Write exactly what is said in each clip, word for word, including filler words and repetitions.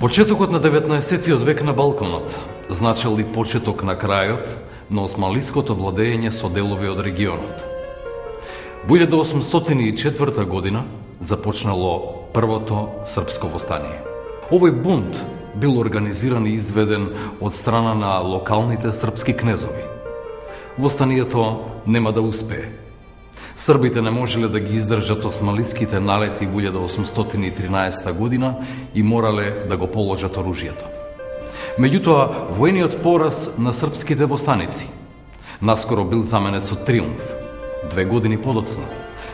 Почетокот на деветнаесеттиот век на Балканот значел и почеток на крајот на османлиското владење со делови од регионот. Во илјада осумстотини и четврта година започнало првото српско востание. Овој бунт бил организиран и изведен од страна на локалните српски кнезови. Востанието нема да успее. Србите не можеле да ги издржат османлиските налети во илјада осумстотини и тринаесетта година и морале да го положат оружјето. Меѓутоа, воениот пораз на српските востаници наскоро бил заменет со триумф. Две години подоцна,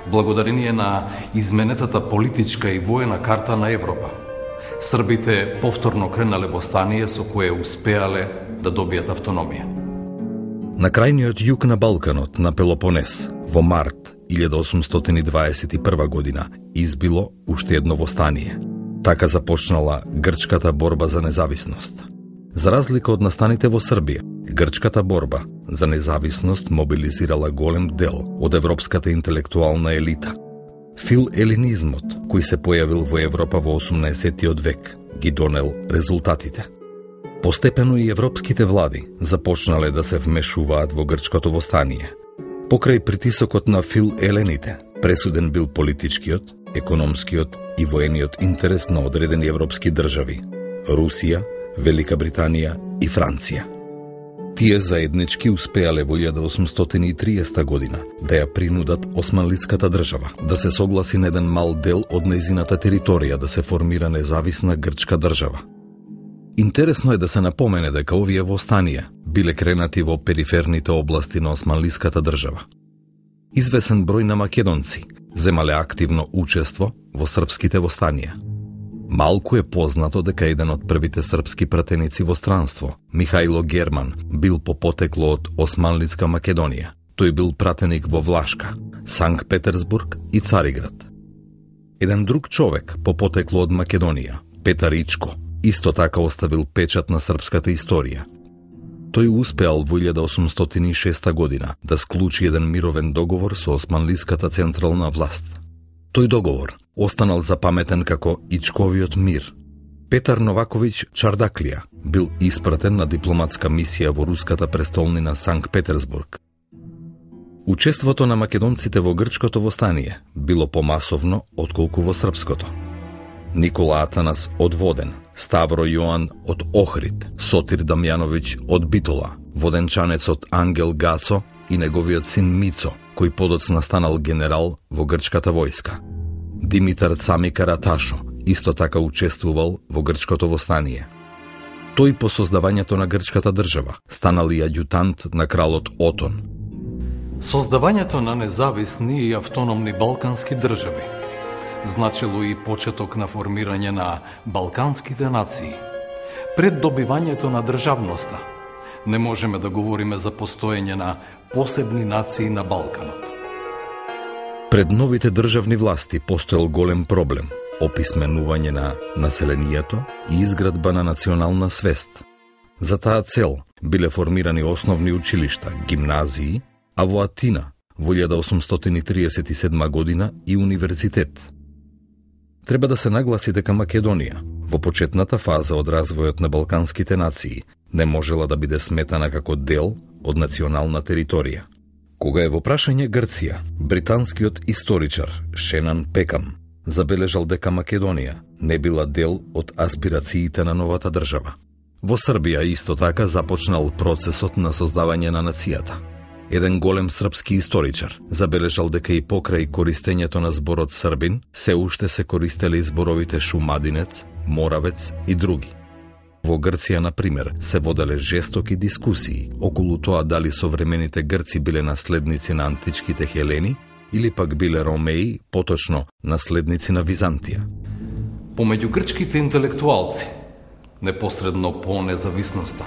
благодарение на изменетата политичка и воена карта на Европа, србите повторно кренале востание со кое успеале да добијат автономија. На крајниот југ на Балканот, на Пелопонес, во март илјада осумстотини дваесет и прва година избило уште едно востание. Така започнала грчката борба за независност. За разлика од настаните во Србија, грчката борба за независност мобилизирала голем дел од европската интелектуална елита. Фил-елинизмот, кој се појавил во Европа во осумнаесеттиот век, ги донел резултатите. Постепено и европските влади започнале да се вмешуваат во грчкото востание. Покрај притисокот на фил-елените, пресуден бил политичкиот, економскиот и воениот интерес на одредени европски држави – Русија, Велика Британија и Франција. Тие заеднички успеале во илјада осумстотини и триесетта година да ја принудат османлиската држава да се согласи на еден мал дел од нејзината територија да се формира независна грчка држава. Интересно е да се напомене дека овие востанија биле кренати во периферните области на османлиската држава. Извесен број на македонци земале активно учество во српските востанија. Малку е познато дека еден од првите српски пратеници во странство, Михајло Герман, бил по потекло од Османлиска Македонија. Тој бил пратеник во Влашка, Санкт Петерсбург и Цариград. Еден друг човек по потекло од Македонија, Петар Ичко, исто така оставил печат на српската историја. Тој успеал во илјада осумстотини и шеста година да склучи еден мировен договор со османлиската централна власт. Тој договор останал запаметен како Ичковиот мир. Петар Новаковиќ Чардаклија бил испратен на дипломатска мисија во руската престолнина Санкт Петерсбург. Учеството на македонците во грчкото востание било помасовно отколку во српското. Никола Атанас од Воден, Ставро Јоан од Охрид, Сотир Дамјановиќ од Битола, воденчанецот Ангел Гацо и неговиот син Мицо, кој подоцна станал генерал во грчката војска. Димитар Цами Караташо исто така учествувал во грчкото востание. Тој по создавањето на грчката држава станал и аѓутант на кралот Отон. Создавањето на независни и автономни балкански држави значило и почеток на формирање на балканските нации. Пред добивањето на државноста не можеме да говориме за постоење на посебни нации на Балканот. Пред новите државни власти постоел голем проблем – описменување на населението и изградба на национална свест. За таа цел биле формирани основни училишта, гимназии, а во Атина во илјада осумстотини триесет и седма година и универзитет. Треба да се нагласи дека Македонија, во почетната фаза од развојот на балканските нации, не можела да биде сметана како дел од национална територија. Кога е во прашање Грција, британскиот историчар Шенан Пекам забележал дека Македонија не била дел од аспирациите на новата држава. Во Србија исто така започнал процесот на создавање на нацијата. Еден голем српски историчар забележал дека и покрај користењето на зборот србин, се уште се користеле зборовите шумадинец, моравец и други. Во Грција, на пример, се воделе жестоки дискусии околу тоа дали современите грци биле наследници на античките хелени или пак биле ромеи, поточно наследници на Византија. Помеѓу грчките интелектуалци, непосредно по независноста,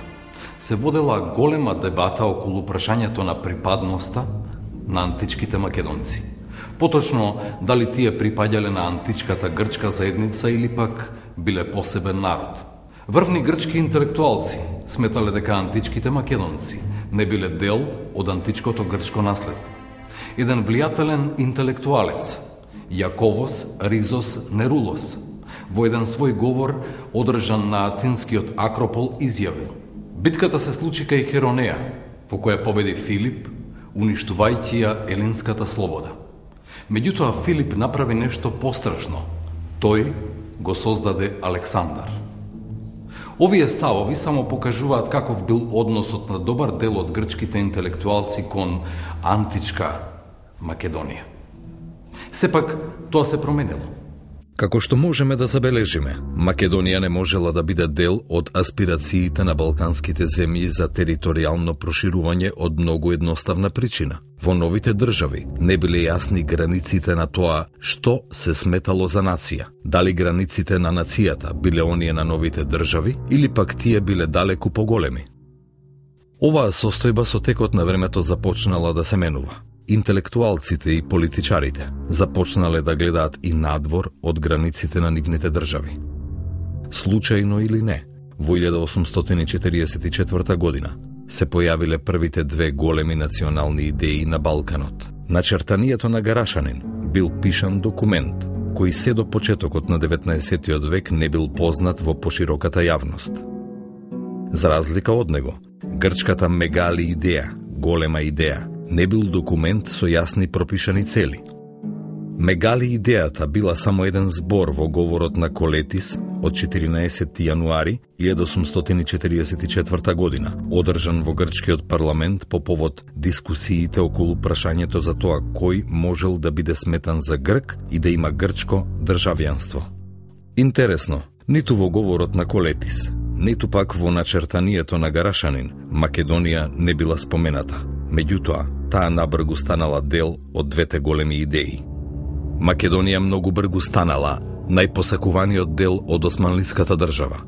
се водела голема дебата околу прашањето на припадноста на античките македонци. Поточно, дали тие припаѓале на античката грчка заедница или пак биле посебен народ. Врвни грчки интелектуалци сметале дека античките македонци не биле дел од античкото грчко наследство. Еден влијателен интелектуалец, Јаковос Ризос Нерулос, Во еден свој говор, одржан на атинскиот Акропол, изјавил: битката се случи кај Херонеја, во која победи Филип, уништувајќи ја елинската слобода. Меѓутоа Филип направи нешто пострашно. Тој го создаде Александар. Овие ставови само покажуваат каков бил односот на добар дел од грчките интелектуалци кон античка Македонија. Сепак, тоа се променило. Како што можеме да забележиме, Македонија не можела да биде дел од аспирациите на балканските земји за територијално проширување од многу едноставна причина. Во новите држави не биле јасни границите на тоа што се сметало за нација. Дали границите на нацијата биле оние на новите држави или пак тие биле далеку поголеми. Оваа состојба со текот на времето започнала да се менува. Интелектуалците и политичарите започнале да гледаат и надвор од границите на нивните држави. Случајно или не, во илјада осумстотини и четиридесет и четврта година се појавиле првите две големи национални идеи на Балканот. Начертанието на Гарашанин бил пишан документ кој се до почетокот на деветнаесеттиот век не бил познат во пошироката јавност. За разлика од него, грчката мегали идеја, голема идеја, не бил документ со јасни пропишани цели. Мегали идејата била само еден збор во говорот на Колетис од четиринаесети јануари илјада осумстотини и четиридесет и четврта година, одржан во грчкиот парламент по повод дискусиите околу прашањето за тоа кој можел да биде сметан за грк и да има грчко државјанство. Интересно, ниту во говорот на Колетис, ниту пак во начертанието на Гарашанин, Македонија не била спомената. Меѓутоа, таа набргу станала дел од двете големи идеи. Македонија многу бргу станала најпосакуваниот дел од османлиската држава.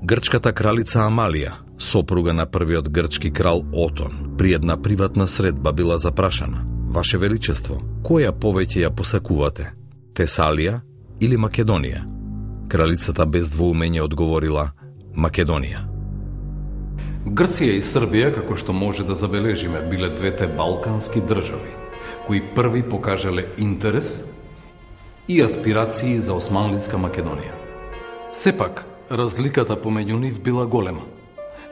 Грчката кралица Амалија, сопруга на првиот грчки крал Отон, при една приватна средба била запрашана: Ваше Величество, која повеќе ја посакувате, Тесалија или Македонија? Кралицата без двоумење одговорила: Македонија. Грција и Србија, како што може да забележиме, биле двете балкански држави, кои први покажале интерес и аспирации за османлиска Македонија. Сепак, разликата помеѓу нив била голема.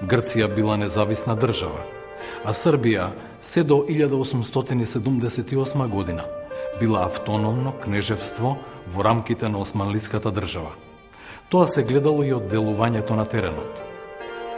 Грција била независна држава, а Србија се до илјада осумстотини седумдесет и осма година била автономно кнежевство во рамките на османлиската држава. Тоа се гледало и од делувањето на теренот.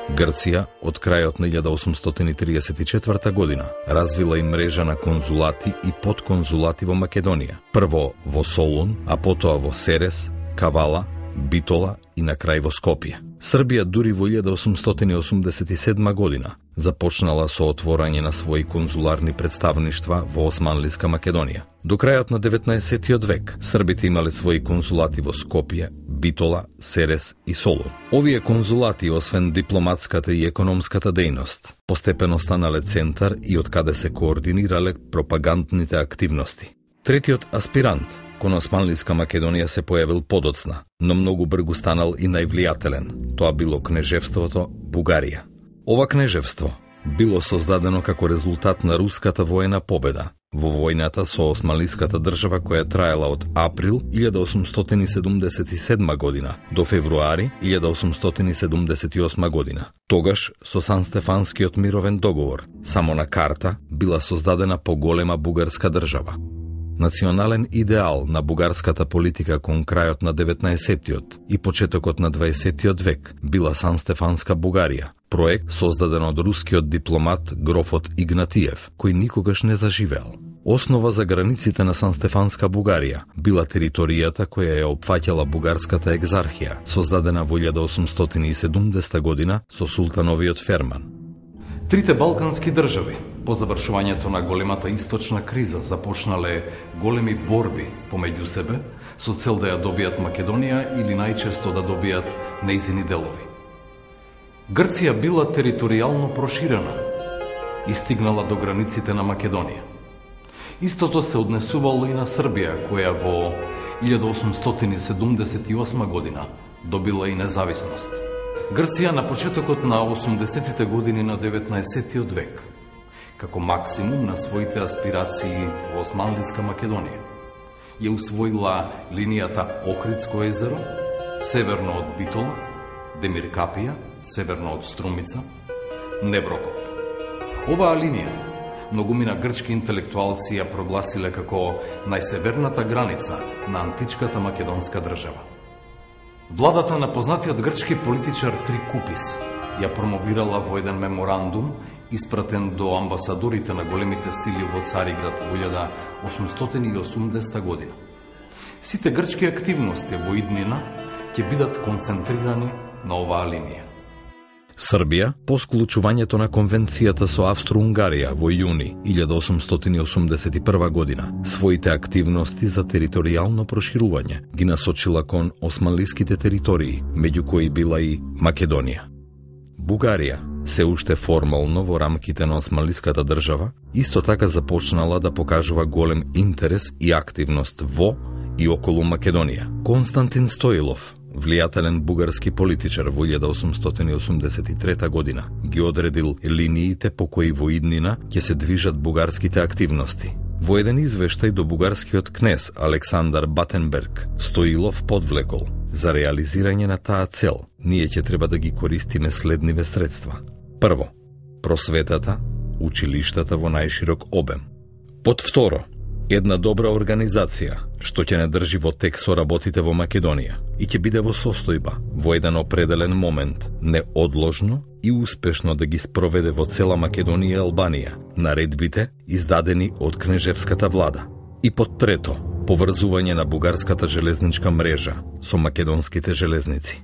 Грција од крајот на илјада осумстотини и триесет и четврта година развила и мрежа на конзулати и подконзулати во Македонија. Прво во Солун, а потоа во Серес, Кавала, Битола и на крај во Скопје. Србија дури во илјада осумстотини и осумдесет и седма година започнала со отворање на своји конзуларни представништва во османлиска Македонија. До крајот на деветнаесеттиот век србите имале своји конзулати во Скопје, Битола, Серес и Солун. Овие конзулати, освен дипломатската и економската дејност, постепено станале центар и од каде се координирале пропагандните активности. Третиот аспирант кон османлиска Македонија се појавил подоцна, но многу бргу станал и највлијателен. Тоа било кнежевството Бугарија. Ова кнежевство било создадено како резултат на руската воена победа во војната со османлиската држава која траела од април илјада осумстотини и седумдесет и седма година до февруари илјада осумстотини и седумдесет и осма година. Тогаш со Сан-Стефанскиот мировен договор само на карта била создадена поголема бугарска држава. Национален идеал на бугарската политика кон крајот на деветнаесеттиот и почетокот на дваесеттиот век била Сан-Стефанска Бугарија, проект создаден од рускиот дипломат грофот Игнатиев, кој никогаш не заживеал. Основа за границите на Сан-Стефанска Бугарија била територијата која ја опфаќала бугарската екзархија, создадена во илјада осумстотини и седумдесета година со султановиот ферман. Трите балкански држави по завршувањето на големата источна криза започнале големи борби помеѓу себе со цел да ја добијат Македонија или најчесто да добијат нејзини делови. Грција била територијално проширена и стигнала до границите на Македонија. Истото се однесувало и на Србија, која во илјада осумстотини и седумдесет и осма година добила и независност. Грција на почетокот на осумдесетите години на деветнаесеттиот век, како максимум на своите аспирации во османлиска Македонија, ја усвоила линијата Охридско езеро, северно од Битола, Демиркапија, северно од Струмица, Неврокоп. Оваа линија многумина грчки интелектуалци ја прогласиле како најсеверната граница на античката македонска држава. Владата на познатиот грчки политичар Трикупис ја промовирала во еден меморандум испратен до амбасадорите на големите сили во Цариград во илјада осумстотини и осумдесета година. Сите грчки активности во иднина ќе бидат концентрирани на оваа линија. Србија, по склучувањето на конвенцијата со Австро-Унгарија во јуни илјада осумстотини осумдесет и прва година, своите активности за територијално проширување ги насочила кон османлиските територии, меѓу кои била и Македонија. Бугарија, се уште формално во рамките на османлиската држава, исто така започнала да покажува голем интерес и активност во и околу Македонија. Константин Стоилов, влијателен бугарски политичар во илјада осумстотини осумдесет и трета година, ги одредил линиите по кои во иднина ќе се движат бугарските активности. Во еден извештај до бугарскиот кнез Александар Батенберг, Стоилов подвлекол: за реализирање на таа цел, ние ќе треба да ги користиме следниве средства. Прво, просветата, училиштата во најширок обем. Под второ, една добра организација, што ќе не држи во тек со работите во Македонија и ќе биде во состојба во еден определен момент неодложно и успешно да ги спроведе во цела Македонија и Албанија наредбите издадени од кнежевската влада. И под трето, поврзување на бугарската железничка мрежа со македонските железници.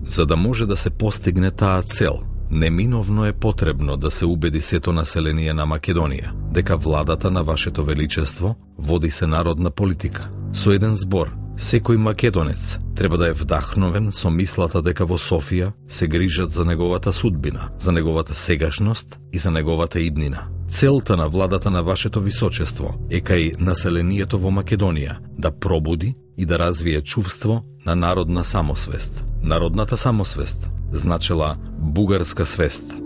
За да може да се постигне таа цел, неминовно е потребно да се убеди сето население на Македонија дека владата на Вашето Величество води се народна политика. Со еден збор, секој македонец треба да е вдахновен со мислата дека во Софија се грижат за неговата судбина, за неговата сегашност и за неговата иднина. Целта на владата на Вашето Височество е кај населението во Македонија да пробуди и да развие чувство на народна самосвест. Народната самосвест значела бугарска свест.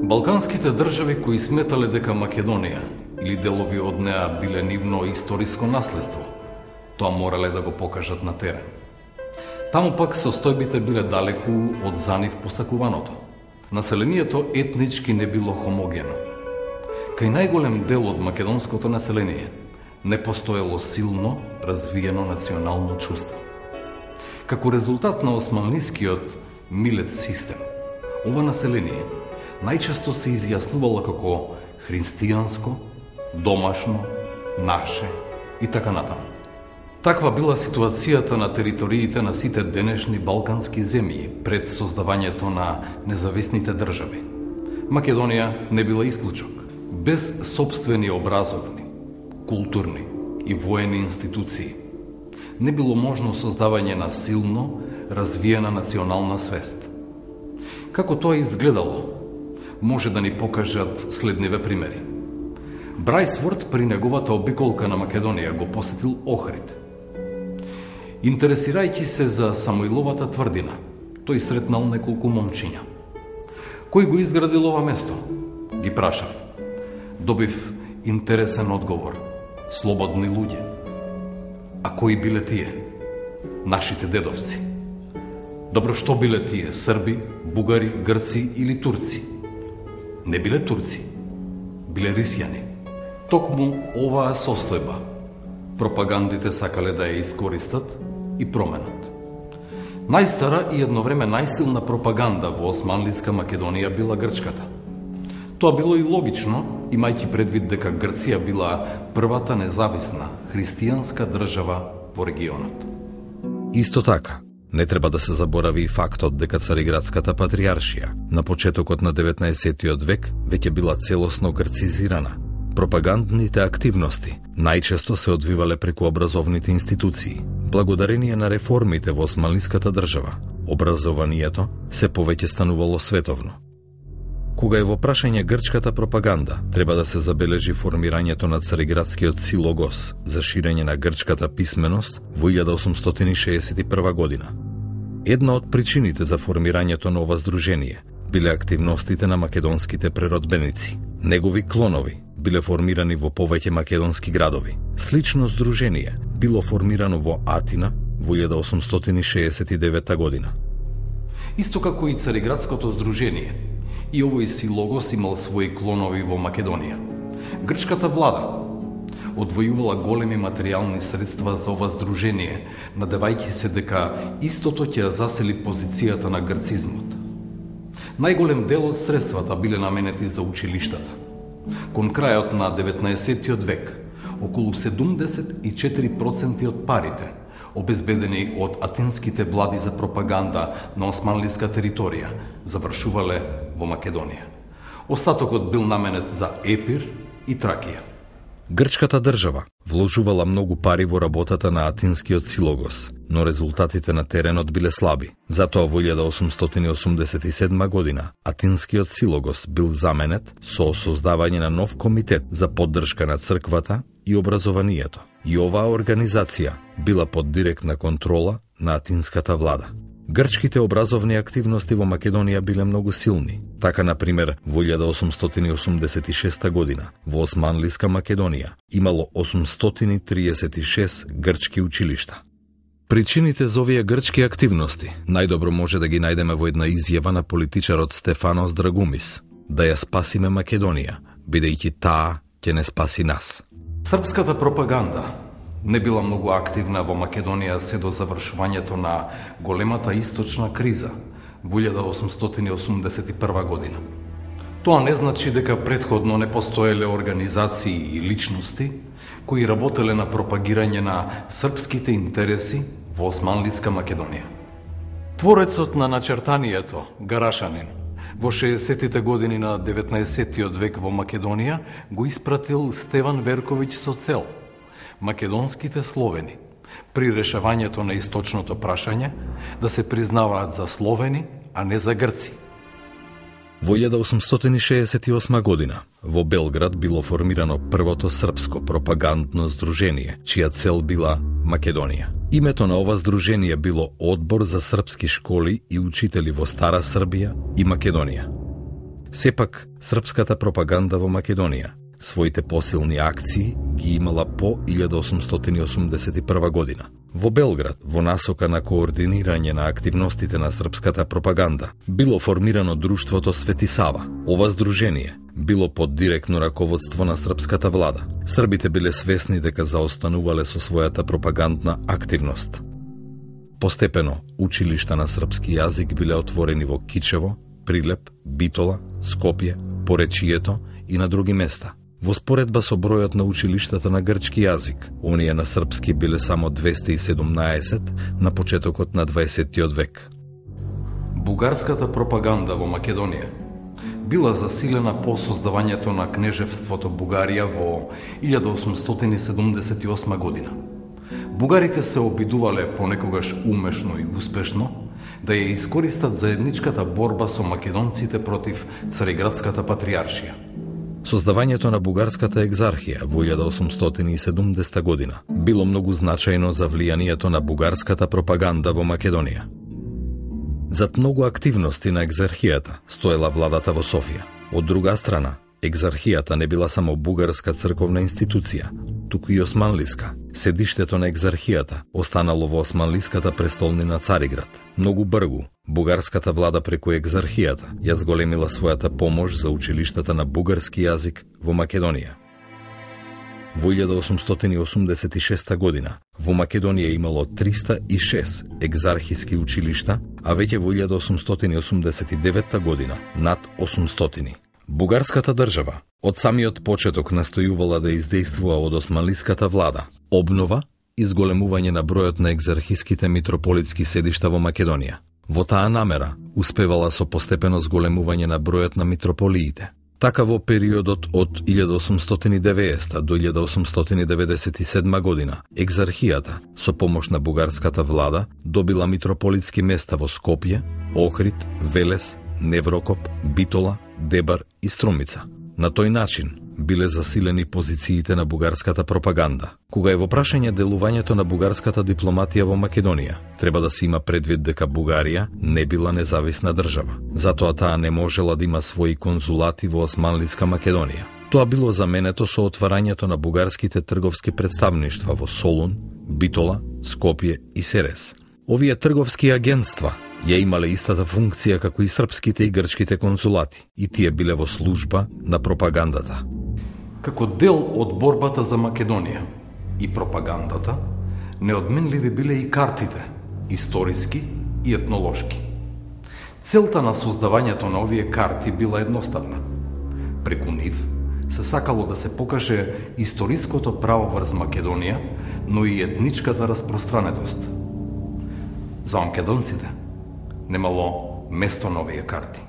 Балканските држави кои сметале дека Македонија или делови од неа биле нивно историско наследство, тоа морале да го покажат на терен. Таму пак состојбите биле далеку од за нив посакуваното. Населението етнички не било хомогено. Кај најголем дел од македонското население не постоело силно развиено национално чувство. Како резултат на османлискиот милет систем, ова население најчесто се изјаснувало како христијанско, домашно, наше и така натаму. Таква била ситуацијата на териториите на сите денешни балкански земји пред создавањето на независните држави. Македонија не била исклучок. Без собствени образовни, културни и воени институции не било можно создавање на силно развиена национална свест. Како тоа изгледало, може да ни покажат следниве примери. Брајсворт при неговата обиколка на Македонија го посетил Охрид. Интересирајќи се за Самоиловата тврдина, тој сретнал неколку момчиња. Кој го изградил ова место? Ги прашав. Добив интересен одговор. Слободни луѓе. А кои биле тие? Нашите дедовци. Добро, што биле тие? Срби, бугари, грци или турци? Не биле турци. Биле рисјани. Токму оваа состојба пропагандите сакале да ја искористат и променат. Најстара и едно време најсилна пропаганда во османлиска Македонија била грчката. Тоа било и логично, имајќи предвид дека Грција била првата независна христијанска држава во регионот. Исто така, не треба да се заборави и фактот дека Цариградската патријаршија на почетокот на деветнаесеттиот век веќе била целосно грцизирана. Пропагандните активности најчесто се одвивале преку образовните институции. Благодарение на реформите во османлиската држава, образованието се повеќе станувало световно. Кога е во прашање грчката пропаганда, треба да се забележи формирањето на Цариградскиот силогос за ширење на грчката писменост во илјада осумстотини шеесет и прва година. Една од причините за формирањето на ова здружение биле активностите на македонските преродбеници. Негови клонови биле формирани во повеќе македонски градови. Слично здружение било формирано во Атина во илјада осумстотини шеесет и девета година. Исто како и Цариградското здружение, и овој силогос имал своји клонови во Македонија. Грчката влада одвојувала големи материјални средства за ова здружение, надевајќи се дека истото ќе засели позицијата на грцизмот. Најголем дел од средствата биле наменети за училиштата. Кон крајот на деветнаесеттиот век, околу седумдесет и четири проценти од парите, обезбедени од атинските влади за пропаганда на османлиска територија, завршувале во Македонија. Остатокот бил наменет за Епир и Тракија. Грчката држава вложувала многу пари во работата на атинскиот силогос, но резултатите на теренот биле слаби. Затоа во илјада осумстотини осумдесет и седма година атинскиот силогос бил заменет со создавање на нов комитет за поддршка на црквата и образованието. И оваа организација била под директна контрола на атинската влада. Грчките образовни активности во Македонија биле многу силни. Така, например, во илјада осумстотини осумдесет и шеста година во Османлиска Македонија имало осумстотини триесет и шест грчки училишта. Причините за овие грчки активности најдобро може да ги најдеме во една изјава на политичарот Стефанос Драгумис: да ја спасиме Македонија, бидејќи таа ќе не спаси нас. Српската пропаганда не била многу активна во Македонија се до завршувањето на големата источна криза во илјада осумстотини осумдесет и прва година. Тоа не значи дека претходно не постоеле организации и личности кои работеле на пропагирање на српските интереси во Османлиска Македонија. Творецот на начертанието, Гарашанин, во шеесеттите години на деветнаесеттиот век во Македонија го испратил Стеван Верковиќ со цел македонските словени при решавањето на источното прашање да се признаваат за словени, а не за грци. Во илјада осумстотини шеесет и осма година во Белград било формирано првото српско пропагандно здружение, чија цел била Македонија. Името на ова здружение било Одбор за српски школи и учители во Стара Србија и Македонија. Сепак, српската пропаганда во Македонија своите посилни акции ги имала по илјада осумстотини осумдесет и прва година. Во Белград, во насока на координирање на активностите на српската пропаганда, било формирано друштвото Свети Сава. Ова здружение било под директно раководство на српската влада. Србите биле свесни дека заостанувале со својата пропагандна активност. Постепено, училишта на српски јазик биле отворени во Кичево, Прилеп, Битола, Скопје, Поречието и на други места. Во споредба со бројот на училиштата на грчки јазик, оние на српски биле само двесте и седумнаесет на почетокот на дваесеттиот век. Бугарската пропаганда во Македонија била засилена по создавањето на кнежевството Бугарија во илјада осумстотини седумдесет и осма година. Бугарите се обидувале понекогаш умешно и успешно да ја искористат заедничката борба со македонците против Цариградската патријаршија. Создавањето на бугарската екзархија во илјада осумстотини и седумдесета година било многу значајно за влијанието на бугарската пропаганда во Македонија. Зад многу активности на екзархијата стоела владата во Софија. Од друга страна, екзархијата не била само бугарска црковна институција, туку и османлиска. Седиштето на екзархијата останало во османлиската престолнина Цариград. Многу бргу, бугарската влада преку екзархијата ја зголемила својата помош за училиштата на бугарски јазик во Македонија. Во илјада осумстотини осумдесет и шеста година во Македонија имало триста и шест екзархиски училишта, а веќе во илјада осумстотини осумдесет и девета година над осумстотини. Бугарската држава од самиот почеток настојувала да издействува од османлиската влада обнова и зголемување на бројот на екзархиските митрополитски седишта во Македонија. Во таа намера успевала со постепено зголемување на бројот на митрополиите. Така во периодот од илјада осумстотини и деветдесета до илјада осумстотини деветдесет и седма година екзархијата со помош на бугарската влада добила митрополитски места во Скопје, Охрид, Велес, Неврокоп, Битола, Дебар и Струмица. На тој начин биле засилени позициите на бугарската пропаганда. Кога е во прашање делувањето на бугарската дипломатија во Македонија, треба да се има предвид дека Бугарија не била независна држава. Затоа таа не можела да има своји конзулати во Османлиска Македонија. Тоа било заменето со отварањето на бугарските трговски представништва во Солун, Битола, Скопје и Серес. Овие трговски агентства ја имале истата функција како и српските и грчките консулати и тие биле во служба на пропагандата. Како дел од борбата за Македонија и пропагандата, неодменливи биле и картите, историски и етнолошки. Целта на создавањето на овие карти била едноставна. Преку нив се сакало да се покаже историското право врз Македонија, но и етничката распространетост. За македонците немало место на овие карти.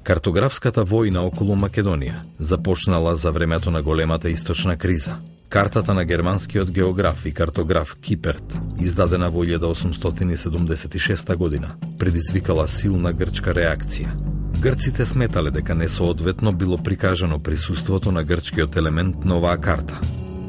Картографската војна околу Македонија започнала за времето на големата источна криза. Картата на германскиот географ и картограф Киперт, издадена во илјада осумстотини седумдесет и шеста година, предизвикала силна грчка реакција. Грците сметале дека несоодветно било прикажано присуството на грчкиот елемент на оваа карта.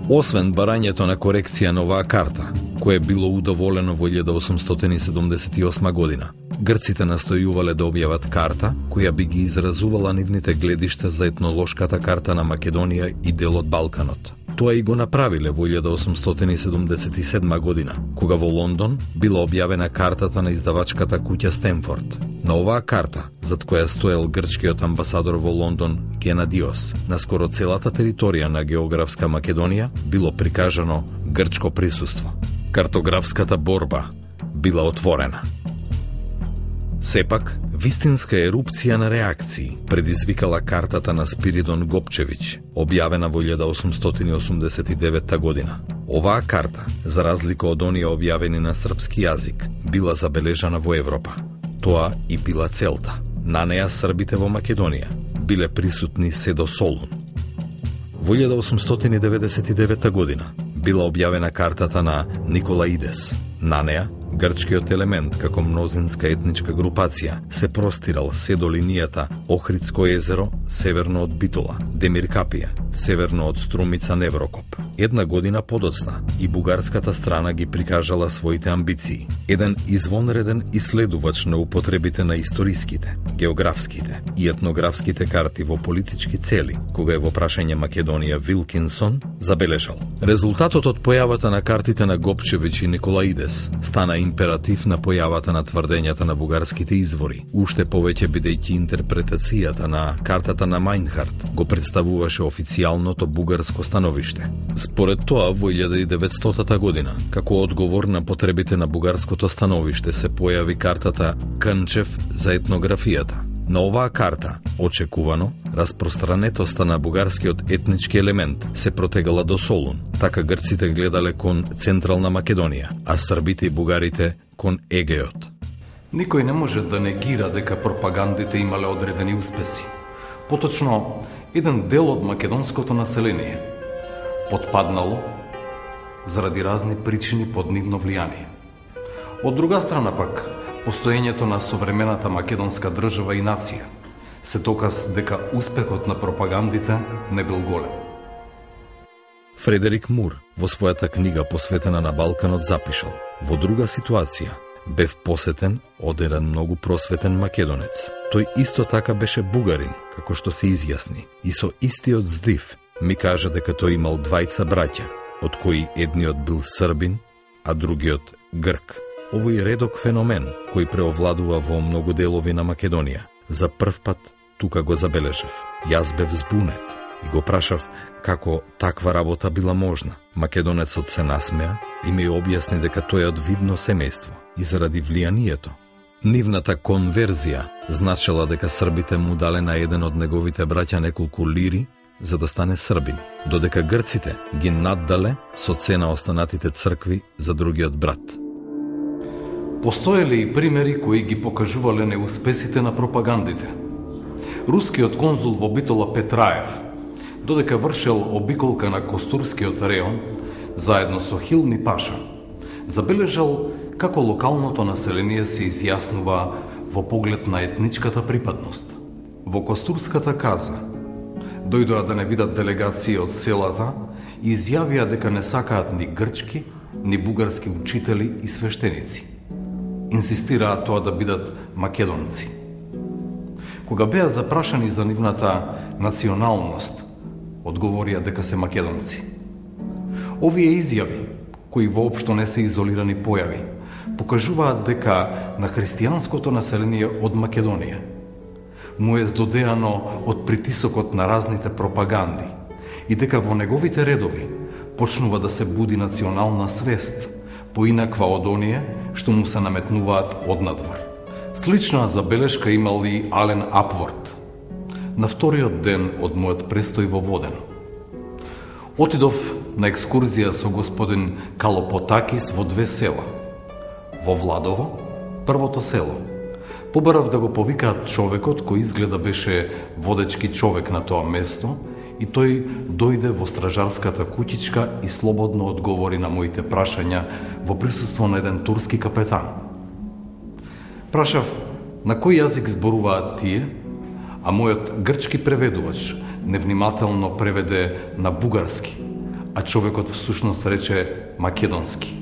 Освен барањето на корекција на оваа карта, кое било удоволено во илјада осумстотини седумдесет и осма година, грците настојувале да објават карта која би ги изразувала нивните гледишта за етнолошката карта на Македонија и дел од Балканот. Тоа и го направиле во илјада осумстотини седумдесет и седма година, кога во Лондон била објавена картата на издавачката куќа Стенфорд. На оваа карта, зад која стоел грчкиот амбасадор во Лондон Генадиос, на скоро целата територија на географска Македонија било прикажано грчко присуство. Картографската борба била отворена. Сепак, вистинска ерупција на реакции предизвикала картата на Спиридон Гопчевиќ, објавена во илјада осумстотини осумдесет и девета година. Оваа карта, за разлика од оние објавени на српски јазик, била забележана во Европа. Тоа и била целта. На неа србите во Македонија биле присутни се до Солун. Во илјада осумстотини деветдесет и девета година била објавена картата на Николаидес. На неа грчкиот елемент како мнозинска етничка групација се простирал се до линијата Охридско езеро, северно од Битола, Демиркапија, северно од Струмица Неврокоп. Една година подоцна и бугарската страна ги прикажала своите амбиции. Еден извонреден исследувач на употребите на историските, географските и етнографските карти во политички цели, кога е во прашање Македонија Вилкинсон, забележал: резултатот од појавата на картите на Гопчевиќ и Николаидес стана императив на појавата на тврдењата на бугарските извори, уште повеќе бидејќи интерпретацијата на картата на Мајнхарт го представуваше официјалното бугарско становиште. Според тоа, во илјада и деветстотата година, како одговор на потребите на бугарското становиште, се појави картата Кънчев за етнографијата. На оваа карта, очекувано, распространетоста на бугарскиот етнички елемент се протегала до Солун, така грците гледале кон Централна Македонија, а србите и бугарите кон Егеот. Никој не може да негира дека пропагандите имале одредени успеси. Поточно, еден дел од македонското население потпаднало заради разни причини под нивно влијание. Од друга страна пак, постоењето на современата македонска држава и нација се доказ дека успехот на пропагандите не бил голем. Фредерик Мур во својата книга посветена на Балканот запишал: во друга ситуација бев посетен од еден многу просветен македонец. Тој исто така беше бугарин, како што се изјасни, и со истиот здив ми кажа дека тој имал двајца браќа, од кои едниот бил србин, а другиот грк. Овој редок феномен, кој преовладува во многу делови на Македонија, за прв пат тука го забележав. Јас бев збунет и го прашав како таква работа била можна. Македонецот се насмеа и ми објасни дека тој е од видно семејство и заради влијанието. Нивната конверзија значела дека србите му дале на еден од неговите браќа неколку лири за да стане србин, додека грците ги наддале со цена останатите цркви за другиот брат. Постоеле и примери кои ги покажувале неуспесите на пропагандите. Рускиот конзул во Битола Петраев, додека вршел обиколка на Костурскиот реон, заедно со Хилми Паша, забележал како локалното население се изјаснува во поглед на етничката припадност. Во Костурската каза дојдоа да не видат делегации од селата и изјавија дека не сакаат ни грчки, ни бугарски учители и свештеници. Инсистираат тоа да бидат македонци. Кога беа запрашани за нивната националност, одговорија дека се македонци. Овие изјави, кои воопшто не се изолирани појави, покажуваат дека на христијанското население од Македонија му е здодеано од притисокот на разните пропаганди и дека во неговите редови почнува да се буди национална свест, поинаква од оние што му се наметнуваат однадвор. Слична забелешка имал и Ален Апворд. На вториот ден од мојот престој во Воден отидов на екскурзија со господин Калопотакис во две села. Во Владово, првото село, побарав да го повикаат човекот кој изгледа беше водечки човек на тоа место и тој дојде во стражарската куќичка и слободно одговори на моите прашања во присуство на еден турски капетан. Прашав на кој јазик зборуваат тие, а мојот грчки преведувач невнимателно преведе на бугарски, а човекот всушност рече македонски.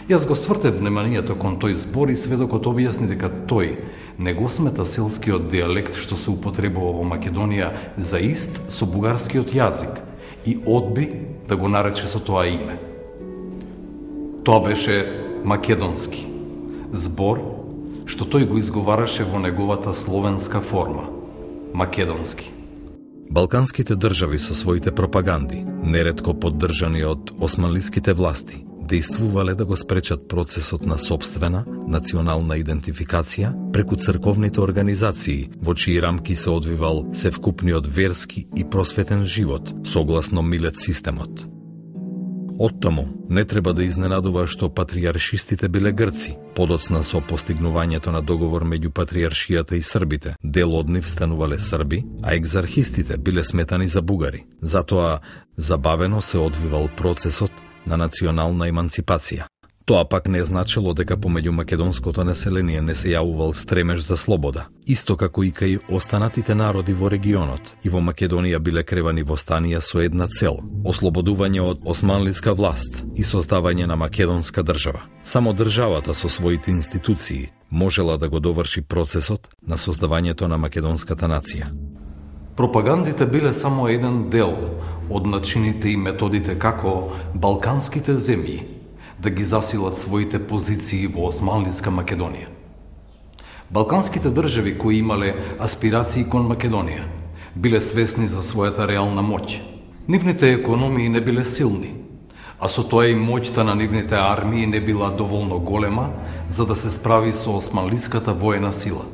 Јас го свртев вниманието кон тој збор и сведокот објасни дека тој не го смета селскиот дијалект што се употребува во Македонија за ист со бугарскиот јазик и одби да го нарече со тоа име. Тоа беше македонски, збор што тој го изговараше во неговата словенска форма – македонски. Балканските држави со своите пропаганди, неретко поддржани од османлиските власти, действувале да го спречат процесот на сопствена, национална идентификација преку црковните организации, во чии рамки се одвивал севкупниот верски и просветен живот, согласно Милет системот. Оттаму не треба да изненадува што патриаршистите биле грци, подоцна со постигнувањето на договор меѓу патриаршијата и србите. Дел од нив станувале срби, а екзархистите биле сметани за бугари. Затоа забавено се одвивал процесот на национална еманципација. Тоа пак не значило дека помеѓу македонското население не се јавувал стремеж за слобода. Исто како и кај останатите народи во регионот, и во Македонија биле кревани востанија со една цел – ослободување од османлиска власт и создавање на македонска држава. Само државата со своите институции можела да го доврши процесот на создавањето на македонската нација. Пропагандите биле само еден дел од начините и методите како балканските земји да ги засилат своите позиции во османлиска Македонија. Балканските држави кои имале аспирации кон Македонија биле свесни за својата реална моќ. Нивните економии не биле силни, а со тоа и моќта на нивните армии не била доволно голема за да се справи со османлиската воена сила.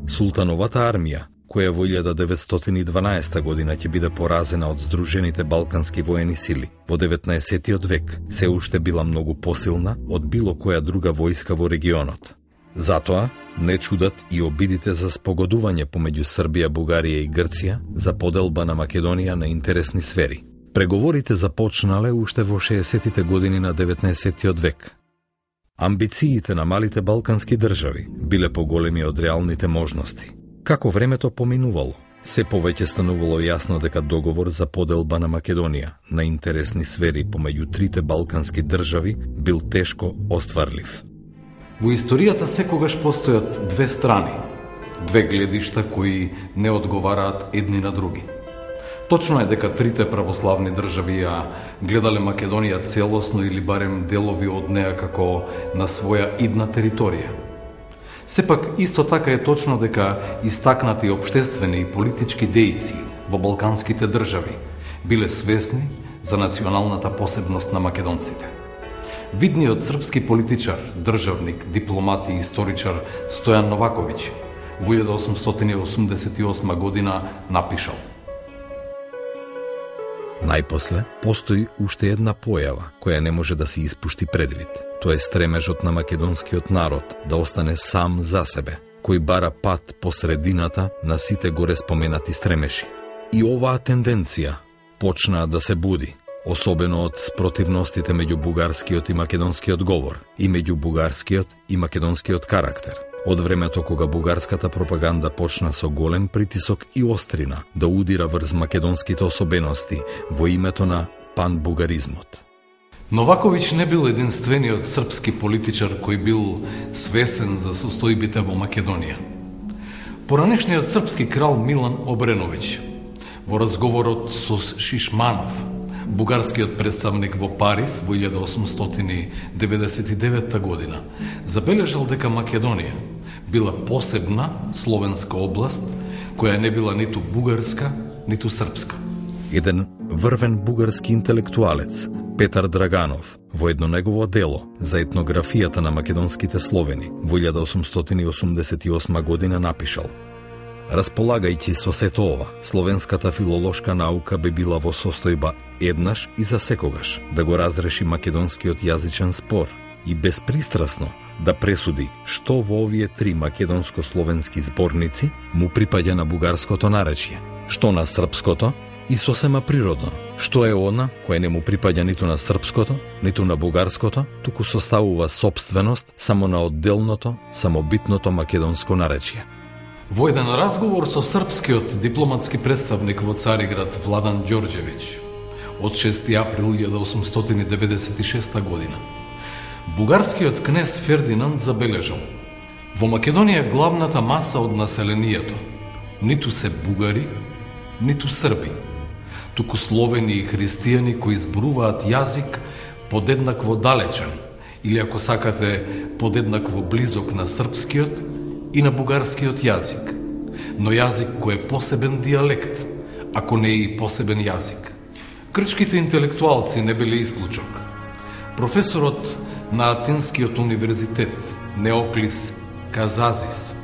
Султановата армија, која во илјада деветстотини и дванаесета година ќе биде поразена од Сдружените балкански воени сили во деветнаесеттиот век, се уште била многу посилна од било која друга војска во регионот. Затоа не чудат и обидите за спогодување помеѓу Србија, Бугарија и Грција за поделба на Македонија на интересни сфери. Преговорите започнале уште во шеесеттите години на деветнаесеттиот век. Амбициите на малите балкански држави биле поголеми од реалните можности. Како времето поминувало, се повеќе станувало јасно дека договор за поделба на Македонија на интересни сфери помеѓу трите балкански држави бил тешко остварлив. Во историјата секогаш постојат две страни, две гледишта кои не одговараат едни на други. Точно е дека трите православни држави ја гледале Македонија целосно или барем делови од неа како на своја идна територија. Сепак, исто така е точно дека истакнати општествени и политички дејци во балканските држави биле свесни за националната посебност на македонците. Видниот српски политичар, државник, дипломат и историчар Стојан Новаковиќ во илјада осумстотини осумдесет и осма година напишал: Најпосле, постои уште една појава која не може да се испушти предвид. Тоа е стремежот на македонскиот народ да остане сам за себе, кој бара пат по средината на сите горе споменати стремеши. И оваа тенденција почнаа да се буди, особено од спротивностите меѓу бугарскиот и македонскиот говор и меѓу бугарскиот и македонскиот карактер. Од времето кога бугарската пропаганда почна со голем притисок и острина да удира врз македонските особености во името на панбугаризмот. Новаковиќ не бил единствениот српски политичар кој бил свесен за состојбите во Македонија. Поранешниот српски крал Милан Обреновиќ во разговорот со Шишманов Бугарскиот представник во Париз во илјада осумстотини деветдесет и девета година забележал дека Македонија била посебна словенска област која не била ниту бугарска, ниту српска. Еден врвен бугарски интелектуалец, Петар Драганов, во едно негово дело за етнографијата на македонските словени во илјада осумстотини осумдесет и осма година напишал: располагајќи со сето ова, словенската филолошка наука би била во состојба еднаш и за секогаш да го разреши македонскиот јазичен спор и безпристрасно да пресуди што во овие три македонско-словенски зборници му припаѓа на бугарското наречје, што на српското и сосема природно, што е она кое не му припаѓа ниту на српското, ниту на бугарското, туку составува собственост само на одделното, самобитното македонско наречје. Во еден разговор со српскиот дипломатски представник во Цариград Владан Ѓорѓевиќ од шести април илјада осумстотини деветдесет и шеста година, бугарскиот кнез Фердинанд забележал: во Македонија главната маса од населението ниту се бугари, ниту срби, туку словени и христијани кои зборуваат јазик подеднакво далечен, или ако сакате подеднакво близок на српскиот и на бугарскиот јазик, но јазик кој е посебен дијалект, ако не и посебен јазик. Грчките интелектуалци не биле исклучок. Професорот на Атинскиот универзитет Неоклис Казазис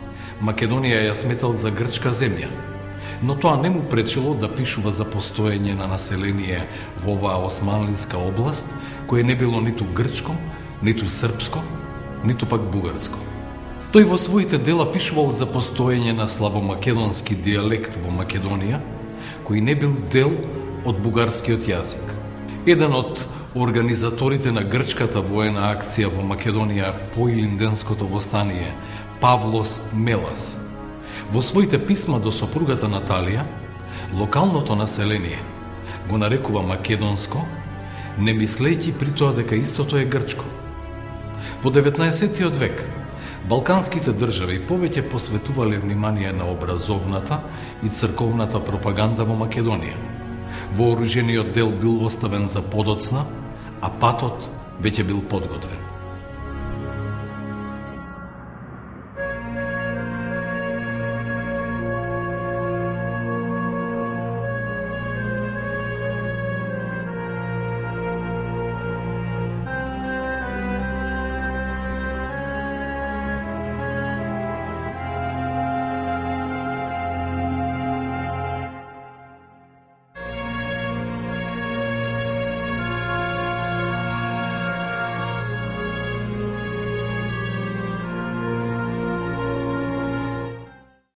Македонија ја сметал за грчка земја, но тоа не му пречело да пишува за постоење на население во оваа османлиска област, кое не било ниту грчко, ниту српско, ниту пак бугарско. Тој во своите дела пишувал за постоење на славомакедонски дијалект во Македонија, кој не бил дел од бугарскиот јазик. Еден од организаторите на грчката воена акција во Македонија по Илинденското востание, Павлос Мелас, во своите писма до сопругата Наталија, локалното население го нарекува македонско, не мислејќи при тоа дека истото е грчко. Во деветнаесеттиот век, балканските држави повеќе посветувале внимание на образовната и црковната пропаганда во Македонија. Вооружениот дел бил оставен за подоцна, а патот веќе бил подготвен.